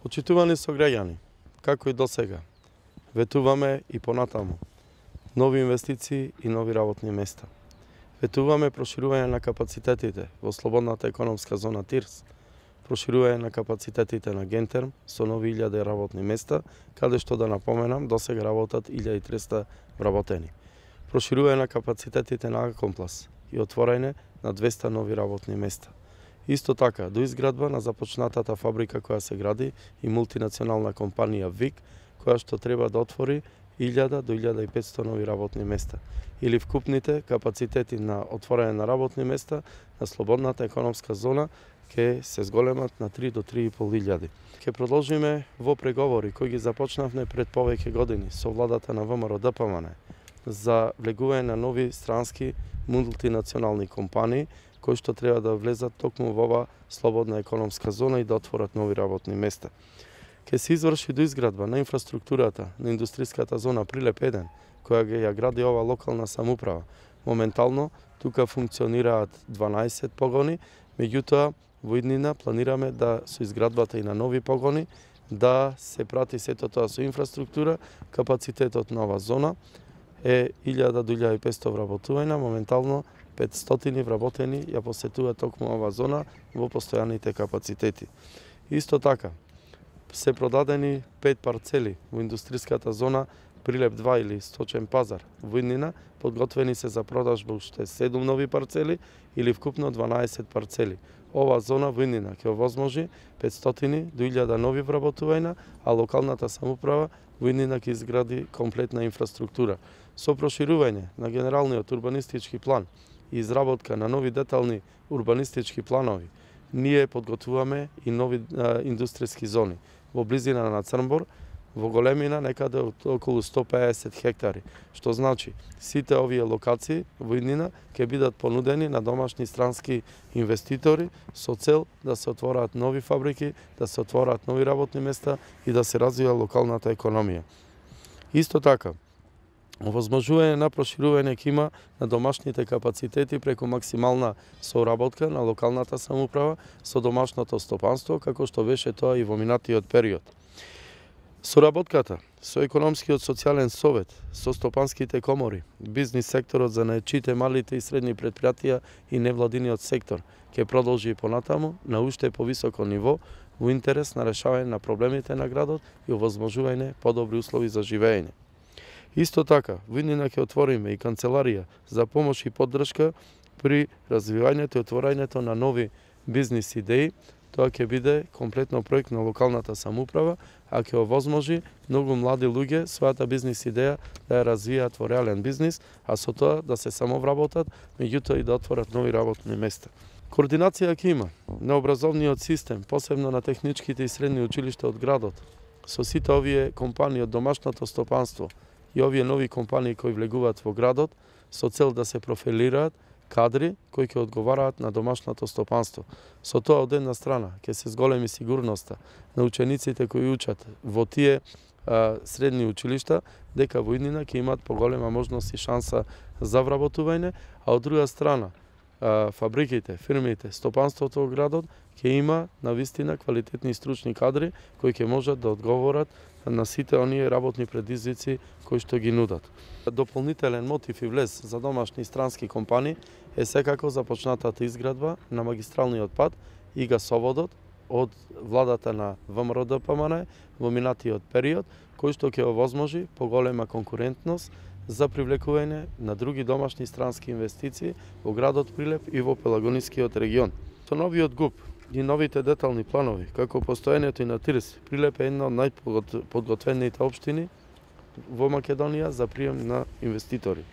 Почитувани сограѓани, како и досега, ветуваме и понатаму нови инвестиции и нови работни места. Ветуваме проширување на капацитетите во слободната економска зона ТИРС, проширување на капацитетите на Гентерм со нови 1000 работни места, каде што да напоменам, досега работат 1300 вработени. Проширување на капацитетите на Акомплас и отворање на 200 нови работни места. Исто така, до изградба на започнатата фабрика која се гради и мултинационална компанија ВИК, која што треба да отвори 1000 до 1500 нови работни места, или вкупните капацитети на отворање на работни места на слободната економска зона ќе се зголемат на 3 до 3500. Ќе продолжиме во преговори кои ги започнавме пред повеќе години со владата на ВМРО ДПМН за влегување на нови странски мултинационални компании кои што треба да влезат токму во ова слободна економска зона и да отворат нови работни места. Ке се изврши доизградба на инфраструктурата на индустријската зона Прилеп 1, која ја гради ова локална самоуправа. Моментално тука функционираат 12 погони, меѓутоа во иднина планираме да со изградбата и на нови погони да се прати сето тоа со инфраструктура. Капацитетот на ова зона е 1000 до 1500 вработувања, моментално 500 вработени ја посетуваат токму ова зона во постојаните капацитети. Исто така, се продадени 5 парцели во индустријската зона Прилеп 2 или Сточен пазар. Во иднина подготвени се за продажба уште 7 нови парцели или вкупно 12 парцели. Ова зона во иднина ќе овозможи 500 до 1000 нови вработувања, а локалната самоуправа во иднина ќе изгради комплетна инфраструктура. Со проширување на генералниот урбанистички план и изработка на нови детални урбанистички планови, ние подготвуваме и нови индустријски зони во близина на Црнбор, во големина некаде од околу 150 хектари, што значи сите овие локации во иднина ќе бидат понудени на домашни странски инвеститори со цел да се отвораат нови фабрики, да се отвораат нови работни места и да се развива локалната економија. Исто така, овозможување на проширување ќе има на домашните капацитети преку максимална соработка на локалната самоуправа со домашното стопанство, како што беше тоа и во минатиот период. Соработката со економскиот социјален совет, со стопанските комори, бизнис секторот за наечите, малите и средни предпријатија и невладиниот сектор ќе продолжи и понатаму на уште повисоко ниво во интерес на решавање на проблемите на градот и овозможување подобри услови за живење. Исто така, во иднина ќе отвориме и канцеларија за помош и поддршка при развивањето и отворањето на нови бизнис идеи. Тоа ќе биде комплетно проект на локалната самоуправа, а ќе овозможи многу млади луѓе својата бизнис идеја да ја развијат во реален бизнис, а со тоа да се самовработат, меѓутоа и да отворат нови работни места. Координација ќе има на образовниот систем, посебно на техничките и средни училишта од градот, со сите овие компании од домашното стопанство и овие нови компании кои влегуваат во градот, со цел да се профилираат кадри кои ќе одговараат на домашното стопанство. Со тоа од една страна ќе се зголеми сигурноста на учениците кои учат во тие средни училишта, дека во иднина ќе имаат поголема можност и шанса за вработување, а од друга страна фабриките, фирмите, стопанството во градот ќе има навистина квалитетни и стручни кадри кои ќе можат да одговорат на сите оние работни предизвици кои што ги нудат. Дополнителен мотив и влез за домашни и странски компании е секако започнатата изградба на магистралниот пат и гасоводот од владата на ВМРО ДПМН во минатиот период, кој што ќе овозможи поголема конкурентност за привлекување на други домашни и странски инвестиции во градот Прилеп и во Пелагонискиот регион. Со новиот ГУП и новите детални планови, како постојањето и на ТИРС, Прилеп е една од најподготвените општини во Македонија за прием на инвеститори.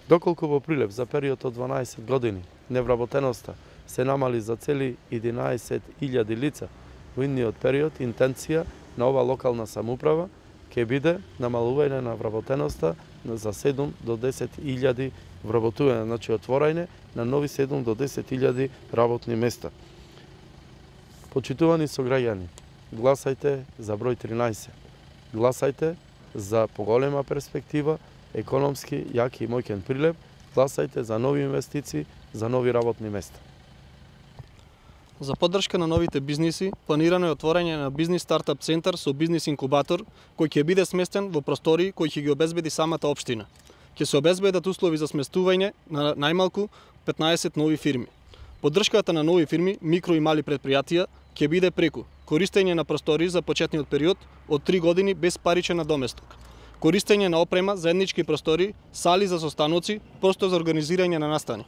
Доколку во Прилеп за период од 12 години невработеноста се намали за цели 11.000 лица, во идниот период интенција на ова локална самоуправа ќе биде намалување на вработеноста за 7 до 10.000 вработувања, значи отворање на нови 7 до 10.000 работни места. Почитувани сограѓани, гласајте за број 13. Гласајте за поголема перспектива, економски јак и моќен Прилеп. Гласајте за нови инвестиции, за нови работни места. За поддршка на новите бизниси, планирано е отворање на бизнис стартап центар со бизнис инкубатор, кој ќе биде сместен во простории кои ќе ги обезбеди самата општина. Ќе се обезбедат услови за сместување на најмалку 15 нови фирми. Поддршката на нови фирми, микро и мали предпријатија, ќе биде преку користење на простории за почетниот период од 3 години без паричен надоместок, користење на опрема, заеднички простории, сали за состаноци, простор за организирање на настани,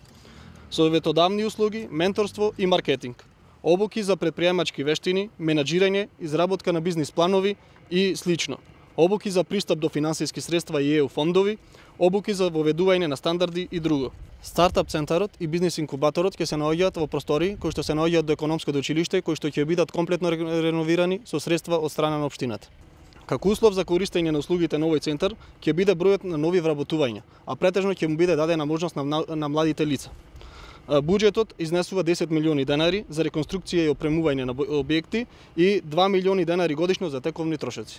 советодавни услуги, менторство и маркетинг, обуки за предприемачки вештини, менаџирање, изработка на бизнис планови и слично, обуки за пристап до финансиски средства и ЕУ фондови, обуки за воведување на стандарди и друго. Стартап центарот и бизнис инкубаторот ќе се наоѓаат во простории кои што се наоѓаат до економското училиште, кои што ќе бидат комплетно реновирани со средства од страна на општината. Како услов за користење на услугите на овој центар ќе биде бројот на нови вработувања, а претежно ќе му биде дадена можност на младите лица. Буџетот изнесува 10 милиони денари за реконструкција и опремување на објекти и 2 милиони денари годишно за тековни трошоци.